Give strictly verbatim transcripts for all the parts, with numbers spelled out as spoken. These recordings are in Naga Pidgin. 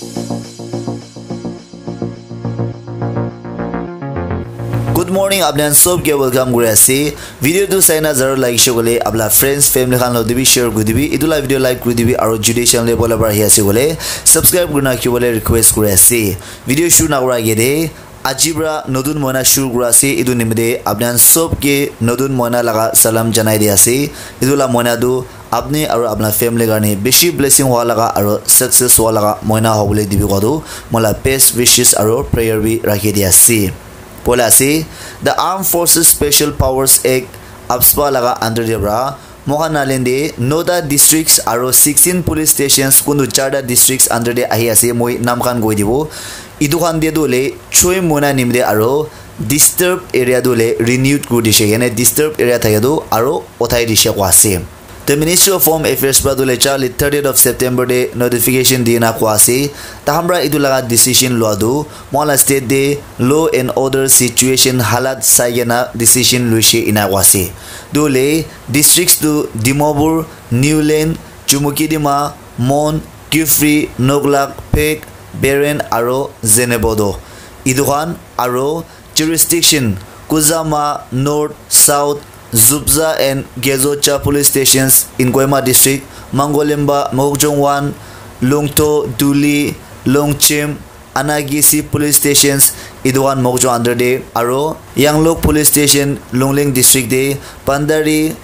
Good morning, apni khan sob ke welcome kuri ase. Video tu saina zara lagise koile apna friends, family khan loti bi share kuri dibi. Etu la video like kuri dibi aru jodi channel te bola bar ahi ase koile subscribe kurina rakhibole request kuri ase. Video shuru nakura age de aji pra notun moina shuru kura ase. Etu nimite apni khan sob ke notun moina laga salam janai di ase. Etu la moina tu apni aru apna family karne bishi blessing hua laga aru success hua laga moina hobole dibi koa tu moi la best wishes aru prayer bi rakhi di ase. Bola ase, the Armed Forces Special Powers Act, AFSPA laga under de pra moikhan Nagaland de nota districts aru sixteen police stations, kuntu charta districts under de ahi ase, moi naam khan koi dibo. Etu khan de tu hoile choi moina nimite aru disturb area tu hoile renewed kuri dishe, yane disturb area thake tu aru uthai dishe koa ase. The Ministry of Home Affairs pra tu hoile charli thirtieth of September de notification dina koa ase. Tahan pra etu laga decision lua tu moikhan la state de law and order situation halat sai kena decision luishe ena koa ase. Tu hoile districts tu Dimapur, Niuland, Chumoukedima, Mon, Kiphire, Naglak, Phek, Peren aru Zunheboto. Etu khan aru jurisdiction Kuzama, North, South, Zubza and Gezocha police stations in Kohima district, Mangolimba, Mokokchung one, Lungtho, Duli, Longchim, Anagisi police stations, etu khan Mokokchung under de, aru Yangluk police station, Longleng district de, Pandari,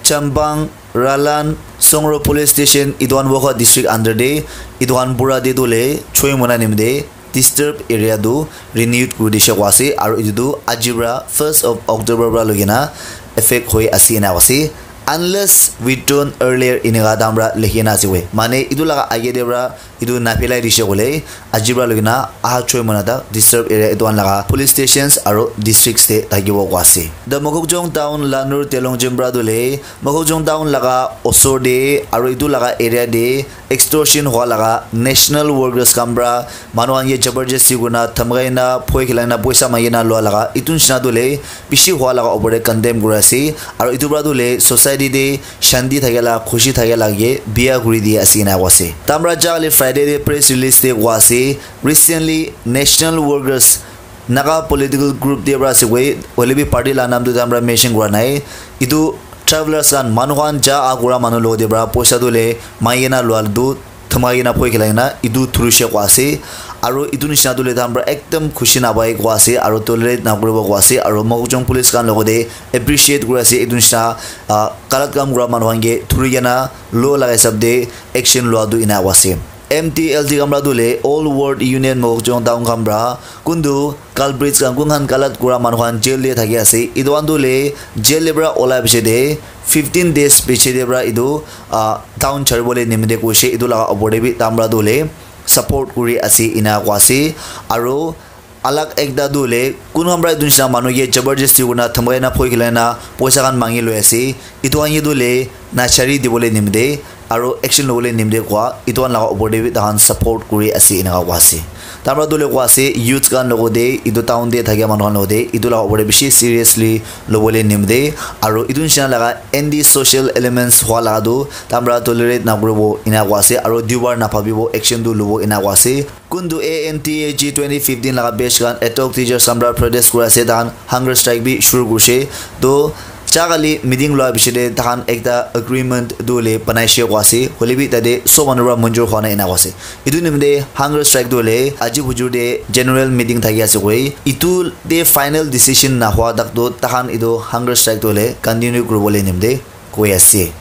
Chambang, Ralan, Songro police station, etu khan Wokha district under de, etu khan pura de tu hoile choi moina nimite disturb area tu renewed kuri dishe koa ase, aru etu tu aji pra first of October pra loi kena effect hoi ase ena koa ase, unless withdrawn earlier eneka tahan pra likhi kena ase koi. Mane etu laga age de pra etu naphelai dishe koile aji pra loi kena aha choi moina tak disturb area etu khan laga police stations aru districts te thakibo koa ase. The Mokokchung town, Lanur, Telongjin pra tu hoile Mokokchung town laga osor de aru etu laga area de extortion hua laga national workers khan pra manu khan ke jabardasti kurina, dhamkai na, phoi khilai na, poisa mangi na lua laga etu nishina tu hoile bishi hua laga opor de condemn kuri ase. Aru etu pra tu hoile society de shanti thake la, khushi thake la ke biya kuri di ase ena koa ase. Tahan pra ja kali Friday de press release de koa ase, recently national workers Naga political group de pra ase koi, hoile bi party la naam tu tahan pra mention kura nai. Etu travelers khan, manu khan ja a kura manu logot de pra poisa tu hoile mangi kena lua tu dhamkai kena phoi khilai kena etu thurishe koa ase. Aru etu nishina tu hoile tahan pra ekdam khushi napai koa ase, aru tolerate nakuribo koa ase, aru Mokokchung police khan logot de appreciate kuri ase etu nishina, ah, galat kam kura manu khan ke thuri kena law laga hisab de action lua tu ena koa ase. M T L T khan pra tu hoile All World Union Mokokchung town khan pra kuntu culprits khan, kun khan galat kura manu khan jail de thaki ase, etu khan tu hoile jail de pra olai piche de fifteen days piche de pra etu, ah, town chari bole nimite koishe, etu laga opor de bi tahan pra tu hoile support kuri ase ena koa ase. Aru alag ekta tu hoile kun khan pra etu nishina manu ke jabardasti kurina, dhamkai na, phoi khilai na, poisa khan mangi loi ase, etu khan ke tu hoile nachari dibole nimite aru action lobole nimite koa etu khan laga opor de bi tahan support kuri ase ena koa ase. Tahan pra tu hoile koa ase youth khan logot de, etu town de thakia manu khan logot de etu laga opor de bishi seriously lobole nimite aru etu nishina laga anti social elements hua laga tu tahan pra tolerate nakuribo ena koa ase, aru dubar nabhabibo, action tu lobo ena koa ase. Kuntu A N T A G twenty fifteen laga batch khan ad hoc teachers khan pra protest kuri ase, tahan hunger strike bi shuru kurishe. To ja kali meeting lua piche de tahan ekta agreement tu hoile banaishe koa ase, hoile bi tate sob manu pra manjur hua nai ena koa ase. Etu nimite hunger strike tu hoile aji bujur de general meeting thaki ase koi, etu de final decision nahua tak tu tahan etu hunger strike tu hoile continue kuribole nimite koi ase.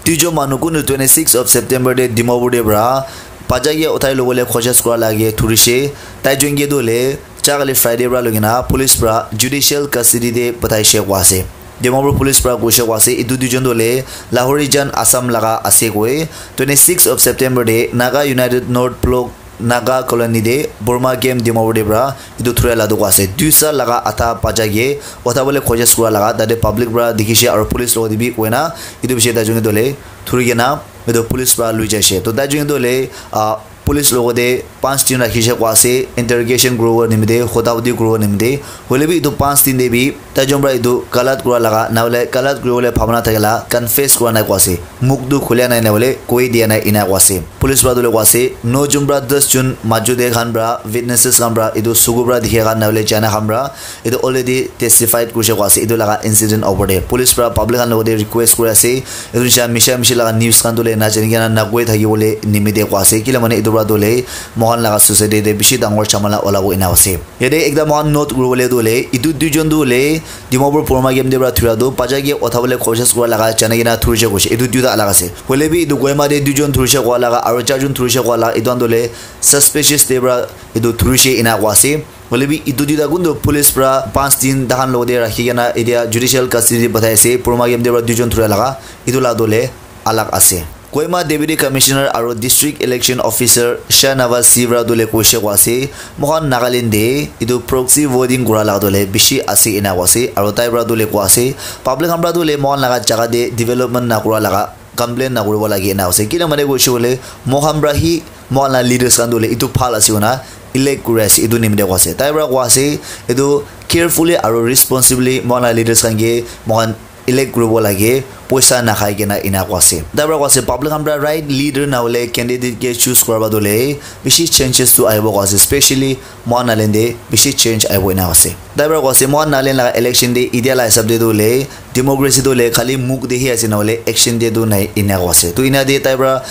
Duijon manu kuntu twenty six of September de Dimapur de pra bacha ke uthai lobole koshis kura lage thurishe. Tai jon ke tu hoile ja kali Friday pra loi kena police pra judicial custody de pathaishe koa ase. Dimapur police pra koishe koa ase, etu duijon tu hoile Lahorijan Assam laga ase koi. Twenty six of September de Naga United North Block Naga colony de Burma camp Dimapur de pra etu thuria la tu koa ase. Duisa laga atha bacha ke uthabole koshis kura laga tate public pra dikhishe aru police logot de bi koina etu bishi tai jon ke tu hoile thuri kena etu police pra lui jaishe. To tai jon ke tu hoile, ah, police logo te panch din rakhi she koa ase, interrogation kuribo nimite, hota hoti kuribo nimite. Hoile bi etu panch din te bi tai jon para etu galat kura laga, na hoile galat kuribole bhabana thakila confess kura nai koa ase. Muk tu khulia nai, na hoile koi dia nai ena koa ase. Police para tu le koa ase, no jon para das jon majo te khan para, witnesses khan para, etu suku para dikha khan na hoile jana khan para, etu already testified kurishe koa ase, etu laga incident opor te. Police para public khan logote request kuri ase, etu nisha misha mishi laga news khan tu le na jani kena na koi thaki bole nimite koa ase. Kila mane etu para tu le mohan laga society te bishi dangor chamala olabo ena ase. Yate ekta mohan note kuri bole tu le, etu duijon tu le Dimapur Purma game te para thura tu bacha ke utha bole koshish kura laga jana kena thurishe koishe. Etu duita alag ase. Hoile bi etu Kohima te duijon thurishe koa laga, aro charjon thurishe koa laga, etu khan tu le suspicious te para etu thurishe ena koa ase. Hoile bi etu duita kuntu police para panch din tahan logote rakhi kena etia judicial custody te pathai ase. Purma game te para duijon thura laga, etu la tu le alag ase. Kohima Deputy Commissioner aro District Election Officer Shahnawaz Singh para tu le koishe koa ase, mohan Nagaland te etu proxy voting kura laga tu le bishi ase ena koa ase, aro tai para tu le koa ase, public khan para tu le mohan laga jaga te development na kura laga complain na kuribo lage ena ase. Kila mane koishe koile mohan para hi mohan la leaders khan tu le etu bhal ase koina elect kuri ase, etu nimite koa ase. Tai para koa ase, etu carefully aro responsibly mohan la leaders khan ke mohan elect kuribo lage, poisa nakhai kena ena koa ase. Tai para koa ase, public khan para right leader na hoile candidate ke choose kuraba tu le bishi changes tu ahibo koa ase, specially mohan Nagaland te bishi change ahibo ena koa ase. Tai para koa ase, mohan Nagaland laga election te etia la hisab te tu le democracy tu le khali muk te hi ase, na hoile action te tu nai ena koa ase. Tu ena te tai para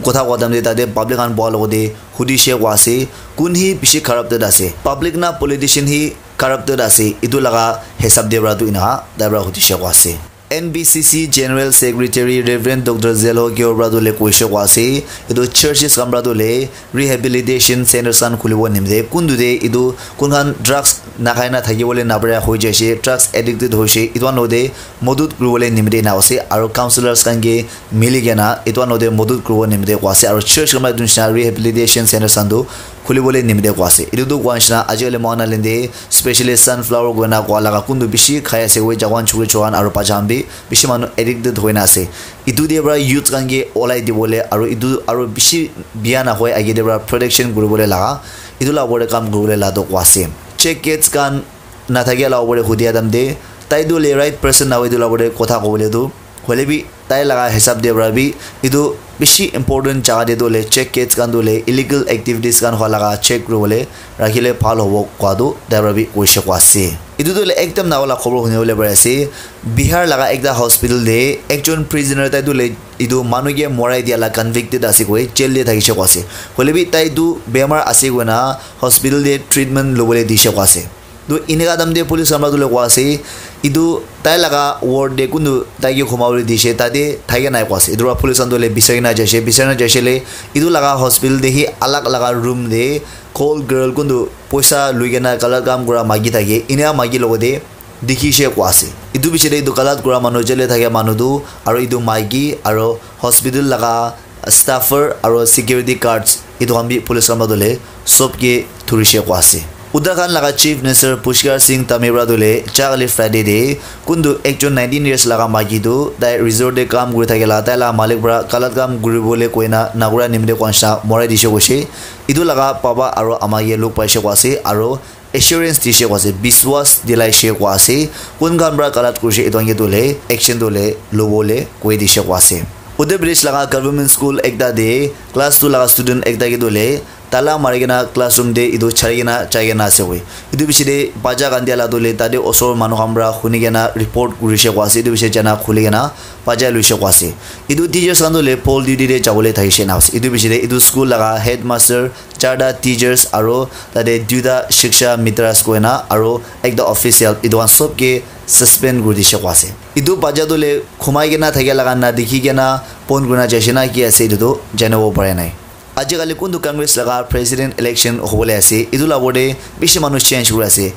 kotha koa time te tate public khan boha logote hudishe koa ase, kun hi bishi corrupted ase, public na politician hi corrupted ase, etu laga hisab te para tu ena tai para hudishe koa ase. N B C C General Secretary Reverend Doctor Zelho Kyo para tu le koishe koa ase, etu churches khan para tu le rehabilitation centers khan khulibo nimite, kuntu te etu kun khan drugs nakhai na thaki bole napara hoi jaise, drugs addicted hoise, etu khan logote modot kuribole nimite na ase, aro counsellors khan ke mili kena etu khan logote modot kuribo nimite koa ase, aro church khan para etu nisna rehabilitation centers khan tu khulibole nimite koa ase. Etu tu koa nisna ajikali mohan Nagaland te specially sunflower koina koa laga kuntu bishi khai ase, oi jawan chukri chuan aro bacha khan bi bishi manu addicted hoina ase. Etu te para youth khan ke olai dibole aro etu aro bishi bia na hoi age te para protection kuribole laga etu la opor te kam kuribole la tu koa ase. Check gates khan na thakia la opor te hudia time te tai tu le right person na hoi etu la opor te kotha kobole tu, hoile bi tai laga hisab te para bi etu bishi important jaga te tu le check gates khan tu le illegal activities khan hua laga check kuribole rakhile bhal hobo koa tu tai para bi koishe koa ase. Etu tu le ekdam nawa la khobor huni bole pari ase. Bihar laga ekta hospital te ekjon prisoner tai tu le etu manu ke morai dia la convicted ase koi jail te thakishe koa ase. Hoile bi tai tu bemar ase koina hospital te treatment lobole dishe koa ase. Tu eneka time te police khan para tu le koa ase, etu tai laga ward te kuntu tai ke khoma bole dishe, tate thake nai koa ase. Etu para police khan tu le bisai na jaise, bisai na jaise le etu laga hospital te hi alag laga room te call girl kuntu poisa lui kena galat kam kura maki thake, eneka maki logote dikhishe koa ase. Etu piche te etu galat kura manu, jail te thakia manu tu, aro etu maiki, aro hospital laga staffer, aro security guards, etu khan bi police khan para tu le sob ke thurishe koa ase. Uttarakhand laga Chief Minister Pushkar Singh Dhami para tu le jagale Friday te kuntu ekjon nineteen years laga maiki tu tai resort te kam kuri thakila, tai laga malik para galat kam kuribole koina nakura nimite koa nisna morai dishe koishe. Etu laga baba aro ama ke log paishe koa ase, aro assurance dishe koa ase, biswas dilaishe koa ase, kun khan para galat kurishe etu khan ke tu le action tu le lobole koi dishe koa ase. Uttar Pradesh laga government school ekta te class two laga student ekta ke tu le tala mari kena classroom te etu chari kena jai kena ase koi. Etu piche te bacha khan dia la tu le tate osor manu khan para huni kena report kurishe koa ase, etu piche jana khuli kena bacha luishe koa ase. Etu teachers khan tu le poll duty te jabole thakishe na ase. Etu piche te etu school laga headmaster, charta teachers aro tate duita shiksha mitras koina aro ekta official, etu khan sob ke suspend kuri dishe koa ase. Etu bacha tu le khumai kena thakia laga na dikhi kena pon kurina jaise na ki ase, etu tu janibo pare nai. Ajikali kuntu Congress laga president election hobole ase, etu la opor te bishi manu change kuri ase.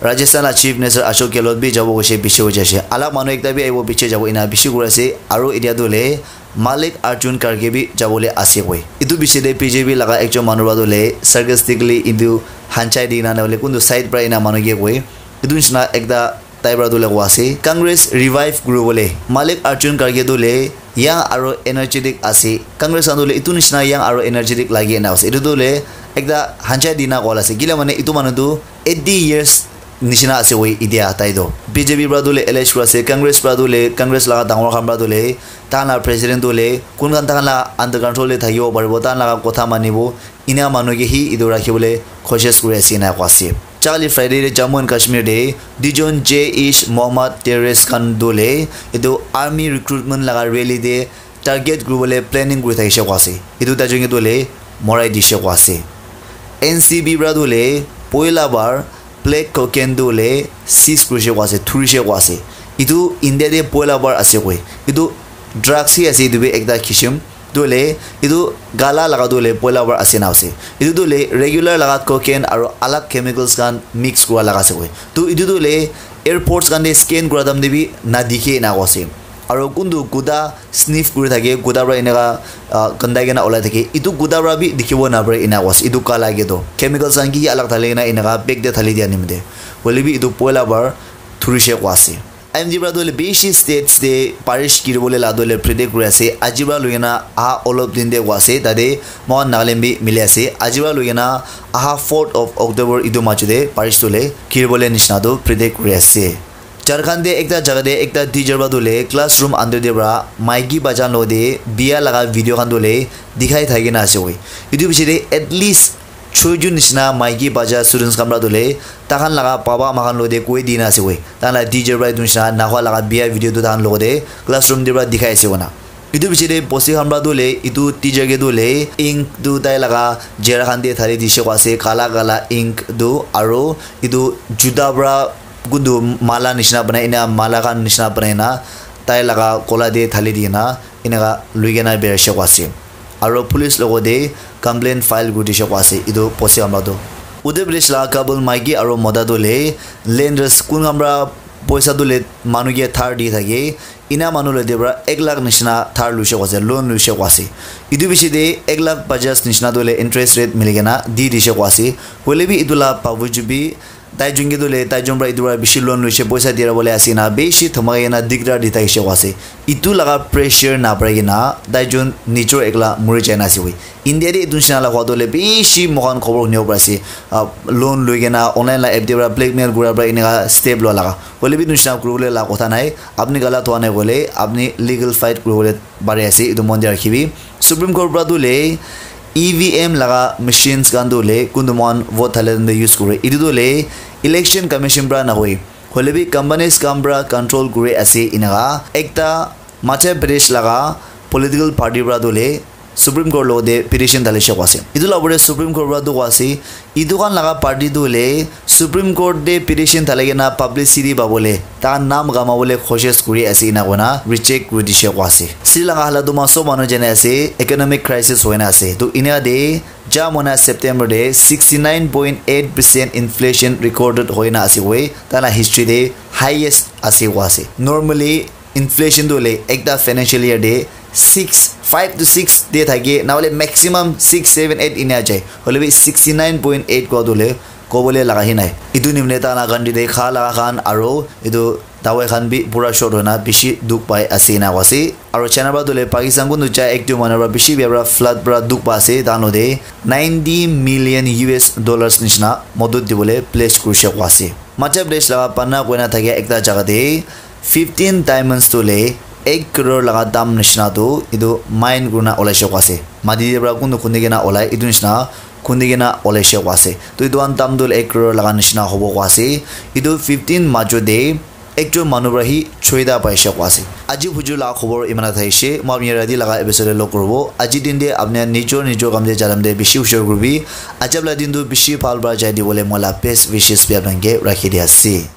Rajasthan la Chief Minister Ashok Gehlot bi jabo koishe, piche hoi jaise. Alak manu ekta bi ahibo, piche jabo, ena bishi kuri ase. Aro etia tu le Malik Arjun Kharge bi jabole ase koi. Etu piche te B J P laga ekjon manu para tu le sarcastically etu hanchai di na, na hoile kuntu side para ena manu ke koi. Etu nisna ekta Tai para tu le koa ase, Congress revive kuri bole Mallikarjun Kharge tu le young aro energetic ase. Congress khan tu le itu nishina young aro energetic lagi na ase. Itu tu le ekta hanchai dina koa la ase. Kila mane itu manu tu eighty years nishina ase woi itia tai tu. B J P para tu le L H kura ase, Congress para tu le, Congress laga dangor khan para tu le, tai la president tu le, kun khan tai la under control de thakibo paribo, tai la kotha manibo, ina manu ke hi itu rakhi bole koshish kuri ase na koa ase. Charli Friday de Jammu and Kashmir de duijon Jaish Mohammed terrorist khan tu le itu army recruitment laga rally de target kuri bole planning kuri thakishe koa ase. Itu tai jong ke tu le morai dishe koa ase. N C B para tu le poila bar black cocaine tu le seize kurishe koa ase, thurishe koa ase. Itu India de poila bar ase koi. Itu drugs hi ase, itu bi ekta kishim. Tu le, itu kala laga tu le poila bar ase na ase. Itu tu le regular laga cocaine aro alag chemicals khan mix kura laga ase koi. Tu itu tu le airports khan de scan kura time de bi na dikhe na koa ase. Aro kuntu kuda sniff kuri thake, kuda para eneka, ah, kandai kena olai thake. Itu kuda para bi dikhibo na pare ena koa ase. Itu kala ke tu chemicals khan ki alag thali kena eneka bag de thali dia nimite. Hoile bi itu poila bar thurishe koa ase. I M D para tu hoile bishi states de barish giri bole la tu hoile predict kuri ase. Aji para lui kena aha olop din de koa ase. Tate moikhan Nagaland bi mili ase. Aji para lui kena aha fourth of October itu majo de barish tu hoile giri bole nishina tu predict kuri ase. Jharkhand de ekta jaga de ekta teacher para tu hoile classroom under de para maiki bacha khan lo de biya laga video khan tu hoile dikhai thaki na ase koi. Itu piche de at least choi jun nishina maiki bacha students khan para tu hoile tai khan laga baba ama khan lo de koi dina ase koi. Tai khan la teacher para itu nishina nahua laga biya video tu tai khan lo de classroom de para dikhai ase koi na. Itu piche de bosti khan para tu hoile itu teacher ke tu hoile ink tu tai laga jera khan de thali dishe koa ase, kala kala ink tu, aro itu juta para kuntu mala nishina banai ena, mala khan nishina banai na tai laga kola de thali di na eneka lui kena birai she koa ase. Aro police logo de complaint file kuri dishe koa ase itu bosti khan para tu. Uttar Pradesh laga couple maiki aro mota tu hoile lenders kun khan para poisa tu hoile manu ke dhar di thake, ena manu logote para ek lakh nishina dhar luishe koa ase, loan luishe koa ase. Itu piche de ek lakh pajas nishina tu hoile interest rate mili kena di dishe koa ase. Hoile bi itu la babuju bi tai jun ke tu hoile tai jun para itu para bishi loan luishe, poisa dira bole ase na bishi dhamakai kena dikdar di thakishe koa ase. Itu laga pressure na parai kena tai jun nijor ekla muri jai na ase koi. India de etu nishina la hua tu hoile bishi moikhan khobor hunibo pari ase. Ah, loan loi kena online la app de para blackmail kura para eneka step lua laga. Hoile bi etu nishina kuri bole la kotha nai. Apni galat hua nai koile apni legal fight kuri bole pari ase. Etu mon de rakhibi. Supreme Court para tu hoile E V M laga machines khan tu hoile kuntu moikhan vote thale time de use kure. Etu tu hoile Election Commission para nahoi. Hoile bi companies khan para control kuri ase eneka. Ekta Madhya Pradesh laga political party para tu hoile Supreme Court logote petition dali shakwa ase. Etu la opor te Supreme Court para tu koa ase, etu khan laga party tu hoile Supreme Court te petition dali kena publicity pabole, taikhan naam kamabole koshish kuri ase ena koina reject kuri dishe koa ase. Sri Lanka hala tu ma sob manu jane ase, economic crisis hoina ase. Tu enia te ja mona September te sixty nine point eight percent inflation recorded hoina ase koi, taila history te highest ase koa ase. Normally, inflation tu hoile ekta financial year te six, five to six te thake, na hoile maximum six, seven, eight enia jai. Hoile bi sixty nine point eight koa tu hoile kobole laga hi nai. Etu nimine taila country te kha laga khan aro etu dawai khan bi pura short hoina bishi dukh pai ase ena koa ase. Aro China para tu hoile Pakistan kuntu chai ek duita manu para bishi bia para flood para dukh pai ase, tahan logote ninety million U S dollars nishina modot dibole pledge kurishe koa ase. Madhya Pradesh laga Panna koina thakia ekta jaga te fifteen diamonds tu hoile ek crore laga dam nishina tu etu mine kurina olaishe koa ase. Mati te para kuntu khundi kena olai, etu nishina khundi kena olaishe koa ase. Tu etu khan dam tu hoile ek crore laga nishina hobo koa ase. Etu fifteen majo te ekjon manu para hi choita paishe koa ase. Aji bhuju laga khobor imana thaishe. Moi apni rati laga episode te log kuribo. Aji din te apni nijor nijor kam te ja time te bishi hushar kuribi. Ajab la din tu bishi bhal para jai dibole moi la best wishes bi apni khan ke rakhi di ase.